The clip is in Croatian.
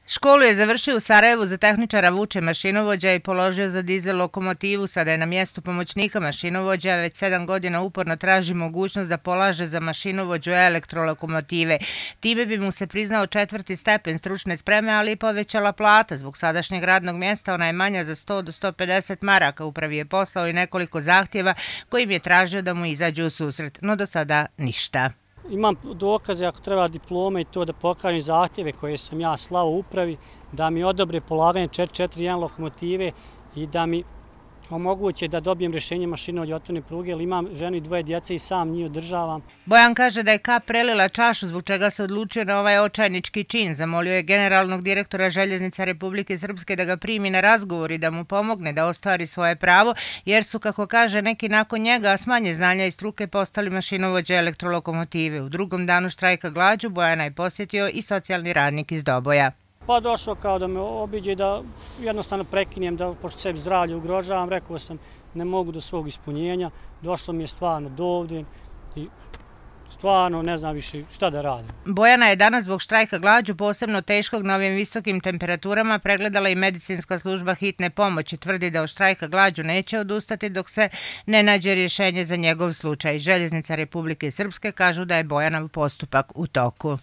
Školu je završio u Sarajevu za tehničara vuče mašinovođa i položio za dizel lokomotivu. Sada je na mjestu pomoćnika mašinovođa, već 7 godina uporno traži mogućnost da polaže za mašinovođu elektrolokomotive. Time bi mu se priznao 4. stepen stručne spreme, ali i povećala plata. Zbog sadašnjeg radnog mjesta ona je manja za 100 do 150 maraka. Upravi je poslao i nekoliko zahtjeva kojim je tražio da mu izađe u susret, no do sada ništa. Imam dokaze ako treba diplome i to da pokažem zahtjeve koje sam ja slao upravi, da mi odobre polaganje 4.1 lokomotive i da mi omoguće da dobijem rješenje mašinovođe otvorene pruge, jer imam ženu i 2 djece i sam njih održavam. Bojan kaže da je kap prelila čašu, zbog čega se odlučio na ovaj očajnički čin. Zamolio je generalnog direktora Željeznica Republike Srpske da ga primi na razgovor i da mu pomogne da ostvari svoje pravo, jer su, kako kaže, neki nakon njega s manje znanja i struke postali mašinovođe elektrolokomotive. U drugom danu štrajka glađu Bojana je posjetio i socijalni radnik iz Doboja. Pa došao kao da me obiđe, da jednostavno prekinem, da pošto sebi zdravlje ugrožavam, rekao sam ne mogu do svog ispunjenja, došlo mi je stvarno do ovdje i stvarno ne znam više šta da radim. Bojana je danas zbog štrajka glađu, posebno teškog na ovim visokim temperaturama, pregledala i medicinska služba hitne pomoći. Tvrdi da od štrajka glađu neće odustati dok se ne nađe rješenje za njegov slučaj. Željeznica Republike Srpske kažu da je Bojanov postupak u toku.